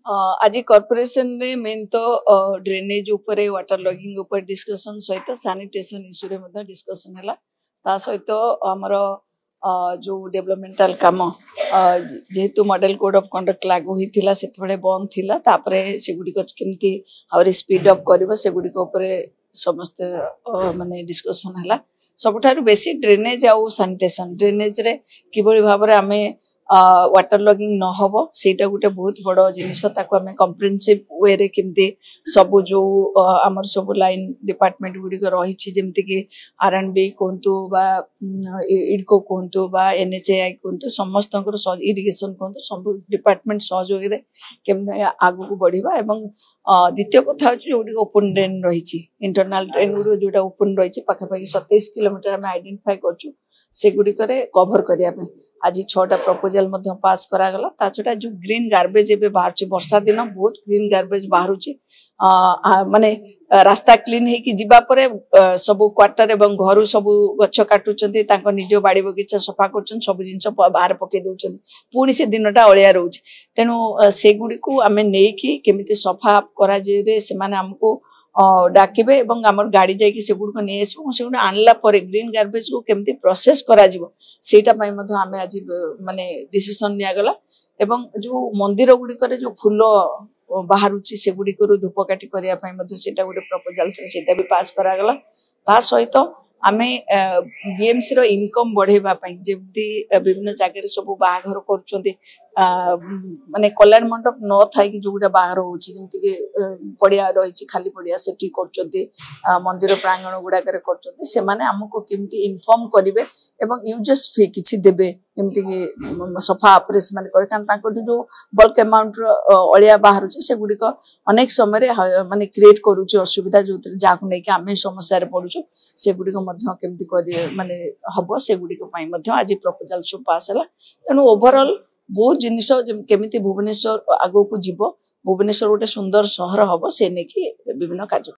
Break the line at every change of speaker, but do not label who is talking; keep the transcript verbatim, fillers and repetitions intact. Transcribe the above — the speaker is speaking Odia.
ଅ, ଆଜି କର୍ପୋରେସନରେ ମେନ୍ ତ ଡ୍ରେନେଜ ଉପରେ ୱାଟର ଲଗିଂ ଉପରେ ଡିସ୍କସନ ସହିତ ସାନିଟେସନ ଇସ୍ୟୁରେ ମଧ୍ୟ ଡିସ୍କସନ ହେଲା ତା ସହିତ ଆମର ଅ, ଯୋଉ ଡେଭଲପମେଣ୍ଟାଲ କାମ ଅ, ଯେହେତୁ ମଡେଲ କୋଡ୍ ଅଫ୍ କଣ୍ଡକ୍ଟ ଲାଗୁ ହେଇଥିଲା ସେତେବେଳେ ବନ୍ଦ ଥିଲା ତାପରେ ସେଗୁଡ଼ିକ କେମିତି ଆହୁରି ସ୍ପିଡ ଅପ୍ କରିବ ସେଗୁଡ଼ିକ ଉପରେ ସମସ୍ତେ ଅ, ମାନେ ଡିସ୍କସନ ହେଲା ସବୁଠାରୁ ବେଶୀ ଡ୍ରେନେଜ ଆଉ ସାନିଟେସନ ଡ୍ରେନେଜରେ କିଭଳି ଭାବରେ ଆମେ ୱାଟର ଲଗିଂ ନ ହବ ସେଇଟା ଗୋଟେ ବହୁତ ବଡ଼ ଜିନିଷ ତାକୁ ଆମେ କମ୍ପ୍ରିହେନ୍ସିଭ ୱେରେ କେମିତି ସବୁ ଯୋଉ ଅ, ଆମର ସବୁ ଲାଇନ ଡିପାର୍ଟମେଣ୍ଟ ଗୁଡ଼ିକ ରହିଛି ଯେମିତିକି ଆର୍ ଆଣ୍ଡ ବି କୁହନ୍ତୁ ବା ଇଡକୋ କୁହନ୍ତୁ ବା ଏନ୍ ଏଚ୍ ଏ I କୁହନ୍ତୁ ସମସ୍ତଙ୍କର ଇରିଗେସନ କୁହନ୍ତୁ ସବୁ ଡିପାର୍ଟମେଣ୍ଟ ସହଯୋଗରେ କେମିତି ଆଗକୁ ବଢିବା ଏବଂ ଅ, ଦ୍ୱିତୀୟ କଥା ହଉଛି ଯୋଉଗୁଡ଼ିକ ଓପନ ଡ୍ରେନ୍ ରହିଛି ଇଣ୍ଟରନାଲ ଡ୍ରେନ୍ ଗୁଡ଼ିକ ଯୋଉଟା ଓପନ ରହିଛି ପାଖାପାଖି ସତେଇଶ କିଲୋମିଟର ଆମେ ଆଇଡେଣ୍ଟିଫାଏ କରୁଛୁ ସେଗୁଡ଼ିକରେ କଭର କରିବା ପାଇଁ ଆଜି ଛଅଟା ପ୍ରପୋଜାଲ ମଧ୍ୟ ପାସ୍ କରାଗଲା ତା ଛଡ଼ା ଯୋଉ ଗ୍ରୀନ୍ ଗାର୍ବେଜ ଏବେ ବାହାରୁଛି ବର୍ଷା ଦିନ ବହୁତ ଗ୍ରୀନ୍ ଗାର୍ବେଜ ବାହାରୁଛି ଅ, ଆ, ମାନେ ଆ, ରାସ୍ତା କ୍ଲିନ୍ ହେଇକି ଯିବା ପରେ ଅ, ସବୁ କ୍ୱାର୍ଟର ଏବଂ ଘରୁ ସବୁ ଗଛ କାଟୁଛନ୍ତି ତାଙ୍କ ନିଜ ବାଡି ବଗିଚା ସଫା କରୁଛନ୍ତି ସବୁ ଜିନିଷ ପ- ବାହାରେ ପକେଇ ଦଉଛନ୍ତି ପୁଣି ସେ ଦିନଟା ଅଳିଆ ରହୁଛି ତେଣୁ ଅ, ସେଗୁଡ଼ିକୁ ଆମେ ନେଇକି କେମିତି ସଫା କରାଯିରେ ସେମାନେ ଆମକୁ ଅ, ଡାକିବେ ଏବଂ ଆମର ଗାଡି ଯାଇକି ସେଗୁଡ଼ିକ ନେଇ ଆସିବ ଏବଂ ସେଗୁଡ଼ିକ ଆଣିଲା ପରେ ଗ୍ରୀନ୍ ଗାର୍ବେଜକୁ କେମିତି ପ୍ରୋସେସ କରାଯିବ ସେଇଟା ପାଇଁ ମଧ୍ୟ ଆମେ ଆଜି ଅ, ମାନେ ଡିସିସନ ନିଆଗଲା ଏବଂ ଯୋଉ ମନ୍ଦିର ଗୁଡ଼ିକରେ ଯୋଉ ଫୁଲ ଅ, ବାହାରୁଛି ସେଗୁଡ଼ିକରୁ ଧୂପକାଠି କରିବା ପାଇଁ ମଧ୍ୟ ସେଇଟା ଗୋଟେ ପ୍ରପୋଜାଲ ଥିଲା ସେଇଟା ବି ପାସ୍ କରାଗଲା ତା ସହିତ ଆମେ ବିଏମସି ର ଇନକମ ବଢେଇବା ପାଇଁ ଯେମିତି ଅ, ବିଭିନ୍ନ ଜାଗାରେ ସବୁ ବାହାଘର କରୁଛନ୍ତି ଆ, ଉମ୍, ମାନେ କଲ୍ୟାଣ ମଣ୍ଡପ ନ ଥାଇକି ଯୋଉଗୁଡ଼ା ବାହାଘର ହଉଛି ଯେମିତିକି ଅ, ପଡିଆ ରହିଛି ଖାଲି ପଡିଆ ସେଠି କରୁଛନ୍ତି ଆ, ମନ୍ଦିର ପ୍ରାଙ୍ଗଣ ଗୁଡାକରେ କରୁଛନ୍ତି ସେମାନେ ଆମକୁ କେମିତି ଇନଫର୍ମ କରିବେ ଏବଂ ୟୁଜର୍ସ ଫି କିଛି ଦେବେ ଯେମିତିକି ଉମ୍, ସଫା ଉପରେ ସେମାନେ କରିବେ କାରଣ ତାଙ୍କଠୁ ଯୋଉ ବଲ୍କ ଆମାଉଣ୍ଟର ଅଳିଆ ବାହାରୁଛି ସେଗୁଡ଼ିକ ଅନେକ ସମୟରେ ହ- ମାନେ କ୍ରିଏଟ କରୁଛି ଅସୁବିଧା ଯୋଉଥିରେ ଯାହାକୁ ନେଇକି ଆମେ ସମସ୍ୟାରେ ପଡୁଛୁ ସେଗୁଡ଼ିକ ମଧ୍ୟ କେମିତି କରିବେ ମାନେ ହବ ସେଗୁଡ଼ିକ ପାଇଁ ମଧ୍ୟ ଆଜି ପ୍ରପୋଜାଲ ସବୁ ପାସ୍ ହେଲା ତେଣୁ ଓଭରଅଲ ବହୁତ ଜିନିଷ ଯେମ- କେମିତି ଭୁବନେଶ୍ୱର ଆଗକୁ ଯିବ ଭୁବନେଶ୍ୱର ଗୋଟେ ସୁନ୍ଦର ସହର ହବ ସେ ନେଇକି ବିଭିନ୍ନ କାର୍ଯ୍ୟକ୍ରମ